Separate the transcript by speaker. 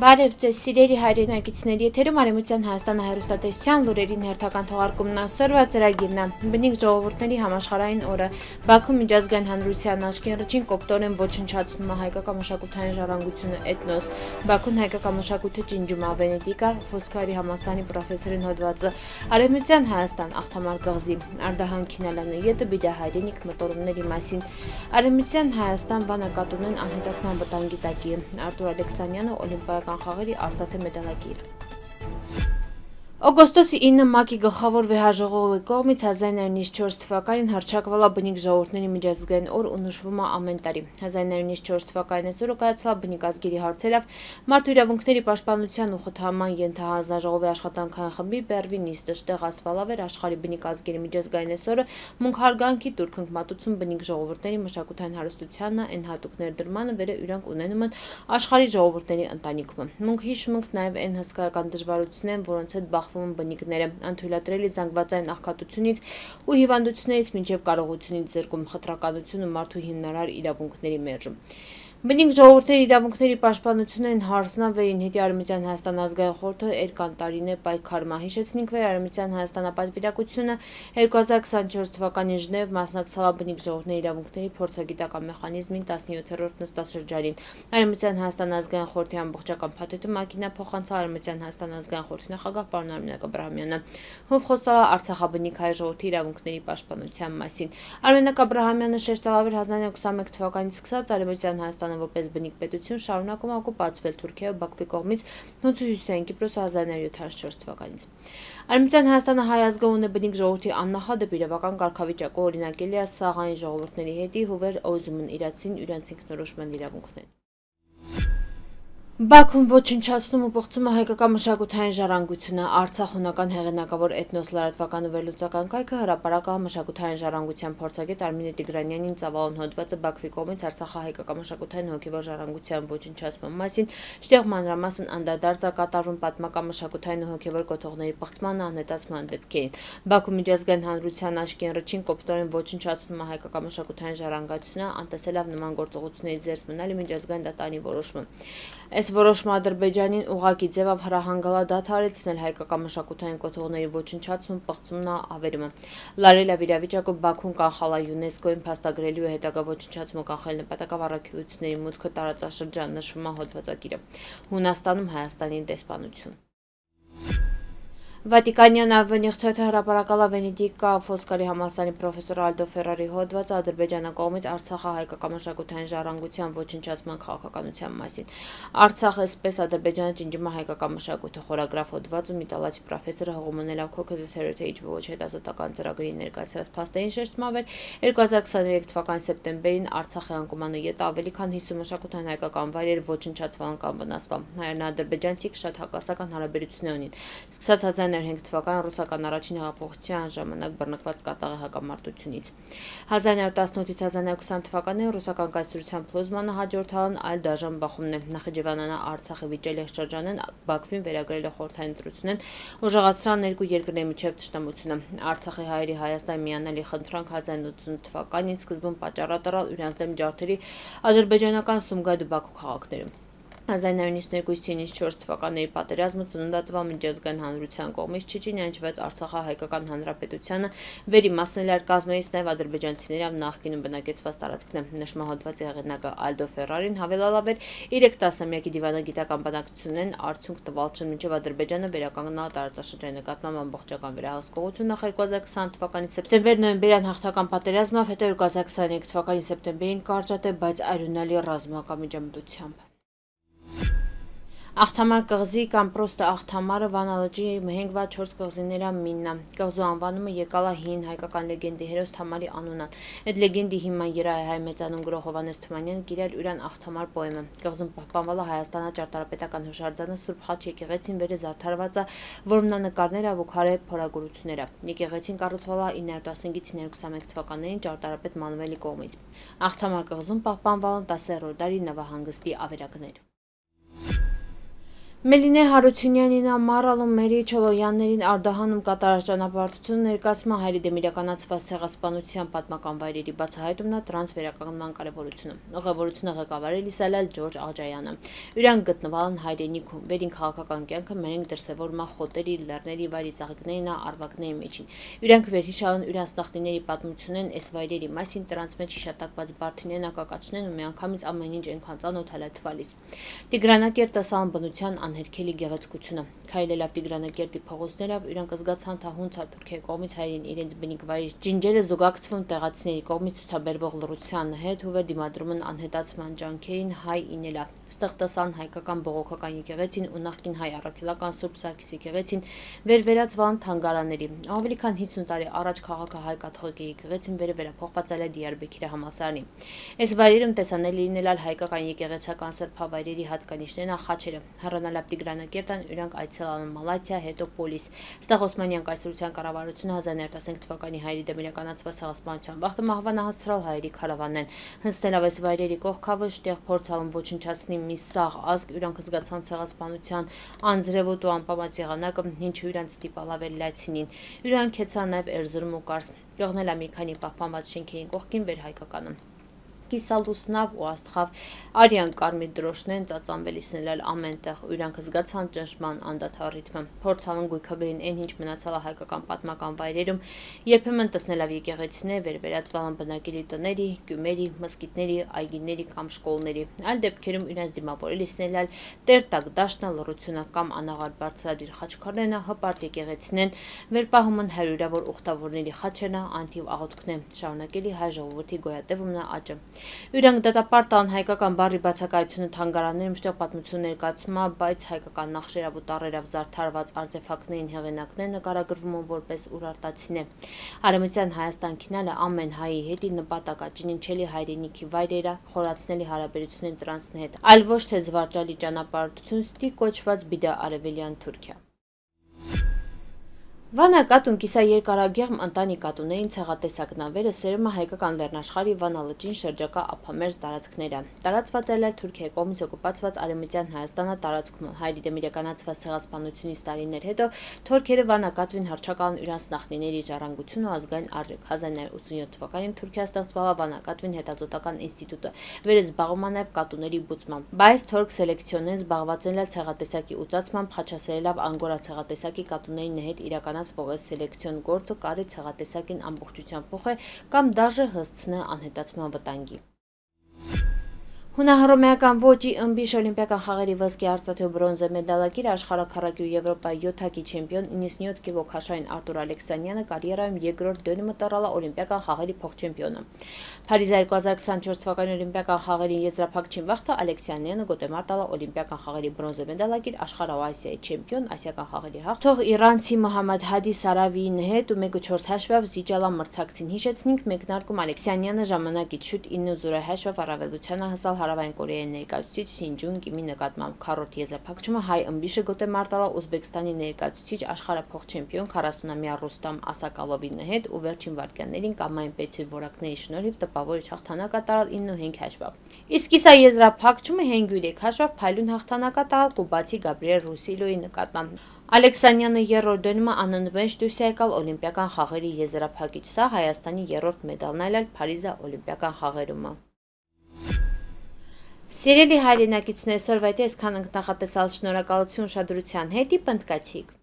Speaker 1: Բարև ձեզ սիրելի հայրենակիցների եթերում Արևմտյան Հայաստանը հեռուստատեսության լուրերին հերթական թողարկումն ասորվա ծրագիրն է։ Բնիկ ժողովուրդների համաշխարհային օրը Բաքվում միջազգային հանրության աշկերտին կոպտորեն ոչնչացնում է հայկական մշակութային ժառանգությունը էթնոս։ Բաքուն հայկական մշակույթը ջնջում է Վենետիկա Ֆոսքարի համալսարանի պրոֆեսորին հոդվածը Արևմտյան Հայաստան աղթամար կղզի Արդահան Քինալյանը յետը բիդա հայրենիք մտորումների մասին Արևմտյան Հայաստան վանակատունեն անհետացման վտանգի տակի Արտուր Ալեքսանյանը Օլիմպիական խաղերի արծաթե մեդալակիր։ Օգոստոսի 9 ՄԱԿ-ի գլխավոր վեհաժողովի կողմից 1994 թվականին հռչակվել է բնիկ ժողովուրդների միջազգային օր ու նշվում է ամեն տարի։ 1994 թվականին այսօրը կայացավ բնիկ ազգերի հարցերով մարդու իրավունքների պաշտպանության ու խթանման ենթահանձնաժողովի աշխատանքային խմբի Բերվի նիստը շտեղ ասվալավեր աշխարհի բնիկ ազգերի միջազգային այսօրը մունք հարգանքի турքնք մատուցում բնիկ ժողովուրդների մշակութային հարստությանն են հատուկ ներդրմանը վերը իրանք ունենում են աշխարհի ժողովուրդների ընտանիքում։ Մունք հիշում ենք նաև այն հսկայական դժվարություններն, որոնց հետ բախվում բնիկները անթույլատրելի զանգվածային աղքատությունից ու հիվանդություններից մինչև կարողությունից զրկում խտրականություն ու մարդու հիմնարար իրավունքների մերժում։ Բնիկ ժողովուրդների իրավունքների պաշտպանությունն հարցնավերին հետի Արևմտյան Հայաստան ազգային խորհուրդը երկար տարիներ պայքարում հիշեցնենք վեր Արևմտյան Հայաստանապատվիրակությունը 2024 թվականին Ժնև մասնակցել բնիկ ժողովուրդների իրավունքների փորձագիտական մեխանիզմին 17-րդ նստաշրջանին։ Արևմտյան Հայաստան ազգային խորհրդի ամբողջական փաթեթը ՄԱԿ-ին փոխանցել Արևմտյան Հայաստան ազգային խորհրդի նախագահ պարոն Արմինե Աբրահամյանը, ով խոսել է Արցախաբնիկ հայ ժողովրդի իրավունքների պաշտպանության մասին։ Արմինե Աբրահամյանը շեշտել էր 1921 թվականից սկսած Արևմտյան Հայաստան որպես բնիկ պետություն շարունակում օկուպացվել Թուրքիայի ու Բաքվի կողմից Հյուսիսային Կիպրոսը 1974 թվականից։ Արևմտյան Հայաստանը հայ ազգը ունի բնիկ ժողովրդի աննախադեպ իրավական կարգավիճակը օրինակելի է սաղային ժողովուրդների հետի հուվեր օզումն իրացին իրանց ինքնորոշման իրավունքներ։ Բաքվում ոչնչացնում ու պղծում է հայկական մշակութային ժառանգությունը Արցախ հունական հեղինակավոր էթնոս լրատվական ու վերլուծական կայքը հրապարակա մշակութային ժառանգության փորձագետ Արմինե Տիգրանյանին ծավալուն հոդվածը Բաքվի կողմից Արցախահայկական մշակութային հոգևոր ժառանգության ոչնչացման մասին շտեղ մանրամասն անդրադարձ է կատարվում պատմական մշակութային ու հոգևոր կոթողների պղծման անհետացման դեպքերին։ Բաքու միջազգային հանրության աշկերտին կոպտորեն ոչնչացնում է հայկական մշակութային ժառանգությունը անտեսելով նման գործողությունների ձեռք մնալի միջազգային դատարանի որոշումը։ Այս որոշումը Ադրբեջանին ուղղակի ձևով հրահանգալա դադարեցնել հայկական մշակութային կոթողների ոչնչացում, պղծումն ավերումը։ Լարելա վիրավիճակը Բաքուն կանխալ է ՅՈՒՆԵՍԿՕ-ին փաստագրելու ու հետագա ոչնչացումը կանխել նպատակով առաքելությունների մուտքը տարածաշրջան նշվում է հոդվածագիրը։ Հունաստանում Հայաստանի դեսպանություն։ Վատիկանյան ավենիղթոթը հրապարակալ է Վենետիկա Ֆոսքարի համալսարանի պրոֆեսոր Ալդո Ֆերարի հոդվածը Ադրբեջանը կողմից Արցախը հայկական մշակութային ժառանգության ոչնչացման քաղաքականության մասին։ Արցախը այսպես Ադրբեջանը ջնջում է հայկական մշակույթը խորագրավ հոդվածում իտալացի պրոֆեսորը հողոմոնելով Caucasus Heritage Watch հետազոտական ծրագրի ներկայացրած փաստերին շեշտում էր 2023 թվականի սեպտեմբերին Արցախի անկումանը յետ ավելի քան 50 մշակութային հայկական վայրեր ոչնչացվել կամ վնասվել։ Հայերն ադրբեջանցիք շատ հակասական հարաբերություններ ունին։ Սկսած 1905 թվականին ռուսական առաջին հեղափոխության ժամանակ բռնկված կատաղի հակամարտությունից։ 1918-ից 1920 թվականին ռուսական կայսրության փլուզմանը հաջորդալն այլ դաժան բախումն է։ Նախիջևանանը Արցախի վիճելի շրջանեն Բաքվին վերագրել է խորհրդային ընտրությունն ուժեղացրան երկու երկրների միջև թշնամությունը։ Արցախի հայերի Հայաստան միանալի խնդրանք 1980 թվականին սկզբում պատճառ տալ իրենց դեմ ջարդերի ադրբեջանական Սումգայիթ ու Բաքու քաղաքներում։ 1992-94 թվականների պատերազմը ծննդատվավ միջազգային հանրության կողմից Չեչենիայինչվեց Արցախահայկական Հանրապետությանը վերիմասնել էր կազմերից նաև ադրբեջանցիներով նախկինում բնակեցված տարածքն է։ Նշում է հոդվածի հեղինակը Ալդո Ֆերարին հավելալավ էր 3 տասնամյակի դիվանագիտական բանակցություններն արդյունք տվալ չեն մինչև Ադրբեջանը վերականգնալ տարածաշրջանի նկատմամբ ամբողջական վերահսկողություն նախ 2020 թվականի սեպտեմբեր-նոյեմբերյան հաղթական պատերազմով, հետո 2023 թվականի սեպտեմբերին կարճատև, բայց արյունալի ռազմական միջամտությամբ։ Աղթամար կղզի կամ պրոստը աղթամարը Վանա լճի մհենգվա 4 կղզիներա միննա։ Կղզու անվանումը եկալա հին հայկական լեգենդի հերոս Թամարի անունան։ Այդ լեգենդի հիման երայ հայ մեծանուն գրող Հովհաննես Թումանյանը գիրել ուրան աղթամար պոեմը։ Կղզում պահպանվել է Հայաստանա ճարտարապետական հուշարձանը Սուրբ Խաչ եկեղեցին վերը զարդարված է որմնանկարներ ու քարե փորագրությունները։ Եկեղեցին կառուցվել է 915-ից 921 թվականներին ճարտարապետ Մանուելի կողմից։ Աղթամար կղզում պահպանվել են 10-րդ դարի նավահանգստի ավերակներ։ Մելինե Հարությունյանին, Մարալում, Մերի Չոլոյաններին Արդահանում կատարած ճանապարհորդությունը ներկայացնում հայերի դեմ իրականացված ցեղասպանության պատմական վայրերի բացահայտումն է տրանս վերականգնման կարևորությունը։ Ուղևորությունը ղեկավարել Իսալալ Ջորջ Աղջայանը։ Իրանք գտնվալ են հայրենիքում, վերին քաղաքական կյանքը մերենք դրսևորում է խոտերի, լեռների վայրի ծաղիկներին, արվակների միջին։ Իրանք վերհիշալն իրանց նախնիների պատմությունն այս վայրերի մասին տրանս մեջ հիշատակված բարդիներն ակակացնեն ու միանգամից ամեն ինչ այնքան ծանոթ հալաթվալիս։ Տիգրանակերտը սահան բնության անհերքելի գեղեցկությունը։ Քայլելով Տիգրանակերտի փողոցներով իրանք զգացան թահունցա Թուրքիայի կողմից հայերին իրենց բնիկ վայրի ջինջերը զուգակցվում տեղացիների կողմից ցուցաբերվող լռության հետ ու դիմադրում են անհետացման ջանքերին հայ ինելա։ Ստեղծան հայկական բողոքական եկեղեցին ու նախկին հայ առաքելական Սուրբ Սարգիս եկեղեցին վերվերածվան թանգարանների։ Ավելի քան 50 տարի առաջ քաղաքը հայ կաթողիկ եկեղեցին վերափոխված է Դիարբեքիրի համալսարանի։ Այս վայրերում տեսանելի լինել հայկական եկեղեցական սրբավայրերի հատկանիշներն խաչերը։ Հեռանալավ Տիգրանակերտան իրանք այցելան Մալաթիա, հետո Պոլիս։ Ստեղ Օսմանյան կայսրության կառավարությունը 1915 թվականի հայերի դեմ իրականացված ցեղասպանության վաղտը մահվանահասցրալ հայերի քարավաններն։ Հնձնելով այս վայրերի կողքավը շտեղ փորձալում ոչնչացնի մի սաղ ազգ իրանք զգացան ցեղասպանության անձրևոտ ու անպամած եղանակը, ինչու իրանք ստիպալավել լացինին։ Իրանք հեծան նաև Էրզրում ու Կարս։ Կողնել մի քանի պահպանված շենքերին կողքին վերհայկականը։ Կիսալուսնավ ու աստղավ արյան կարմիր դրոշներն ծածանվելիսնել ամենտեղ ու իրանք զգացան ճնշման անդադար ռիթմը։ Փորձալն գույքագրին այն ինչ մնացալ է հայկական պատմական վայրերում, երբեմն տեսնելով եկեղեցիներ վերվերածվալ բնակելի տների, գյումերի, մզկիթների, այգիների կամ շկոլների։ Այլ դեպքերում իրենց դիմավորելիսնել տերտակ դաշնա լռությունը կամ անաղարտ բարձրադիր խաչքարներն հպարտ եկեղեցիներն վերպահում են հարյուրավոր ուխտավորների խաչերն անթիվ աղոթքներ, շարունակելի հայ ժողովրդի գոյատևումն աճը։ Իրանք դատապարտան հայկական բառի բացակայությունը թանգարաններում շտեղ պատմություն ներկայացումա, բայց հայկական նախշերով ու տառերով զարդարված արտեֆակտներին հեղինակները նկարագրվում են որպես ուրարտացիներ։ Արևմտյան Հայաստան քինալը ամեն հայի հետի նպատակա ճնինչելի հայրենիքի վայրերը խորացնելի հարաբերությունների տրանսն հետ, այլ ոչ թե զվարճալի ճանապարհորդություն ստի կոչված բիդա արևելյան Թուրքիա։ Վանա կատուն կիսաերկարագեղմ ընտանի կատուներին ցեղատեսակնավերը սերում է հայկական լեռնաշխարհի Վանա լճին շրջակա ափամերձ տարածքները։ Տարածված է Թուրքիայի կողմից օկուպացված Արևմտյան Հայաստանը տարածքում։ Հայերի դեմ իրականացված ցեղասպանությունից տարիներ հետո թուրքերը Վանա կատվին հռչակալն իրանց նախնիների ժառանգություն ու ազգային արժեք։ 1987 թվականին Թուրքիա ստեղծվել է Վանա կատվին հետազոտական ինստիտուտը, վերզբաղվում է նաև կատուների բուծմամբ։ Բայց թուրք սելեկցիոնեն զբաղված են ցեղատեսակի ուծացմամբ, խաչասերելով անգորա ցեղատեսակի կատուների նեհետ իրականացվող սելեկցիոն գործը կարի ցեղատեսակին ամբողջությամբ փոխե կամ դաժե հսցնե անհետացման վտանգի։ Հունահռոմեական ոճի ըմբիշ օլիմպիական խաղերի ոսկե արծաթե ու բրոնզե մեդալակիր աշխարհաքառակի ու Եվրոպայի 7-ակի չեմպիոն 97 կիլո քաշային Արտուր Ալեքսանյանը կարիերայում երկրորդ դönümը տռալ է օլիմպիական խաղերի փոխչեմպիոնը։ Փարիզ 2024 թվականի օլիմպիական խաղերի եզրափակչին վաղտը Ալեքսանյանը գոտեմար տալ է օլիմպիական խաղերի բրոնզե մեդալակիր աշխարհ ու Ասիայի չեմպիոն ասիական խաղերի հաղթող իրանցի Մոհամմադ Հադի Սարավիին հետ ու 1/4 հաշվով Զիջալա մրցակցին հիշեցնենք մեկնարկում Ալեքսանյանը ժամանակից շուտ 9-0 հաշվով առավելությանը հասալ Հարավային Կորեայի ներկայացուցիչ Սինջուն Կիմի նկատմամբ քառորդ եզրափակումը հայ ըմբիշը գոտեմար տալ է Ուզբեկստանի ներկայացուցիչ աշխարհափոխ-չեմպիոն 40-ամյա Ռուստամ Ասակալովի հետ ու վերջին վայրկյաններին կամային պետություն որակների շնորհիվ տպավորիչ հաղթանակ կատարալ 9-5 հաշվով։ Իսկ սա եզրափակումը 5-3 հաշվով փայլուն հաղթանակ կատարալ կուբացի Գաբրիել Ռուսիլոյի նկատմամբ։ Ալեքսանյանը երրորդ դönümը անընդմեջ դուրս է եկալ օլիմպիական խաղերի եզրափակիչ։ Սա Հայաստանի երրորդ մեդալն այլ Փարիզի օլիմպիական խաղերում։ Սիրելի հայրենակիցներ, այսօրվա այսքան ենք նախատեսալ, շնորհակալություն ուշադրության հետ, պնդկացիք։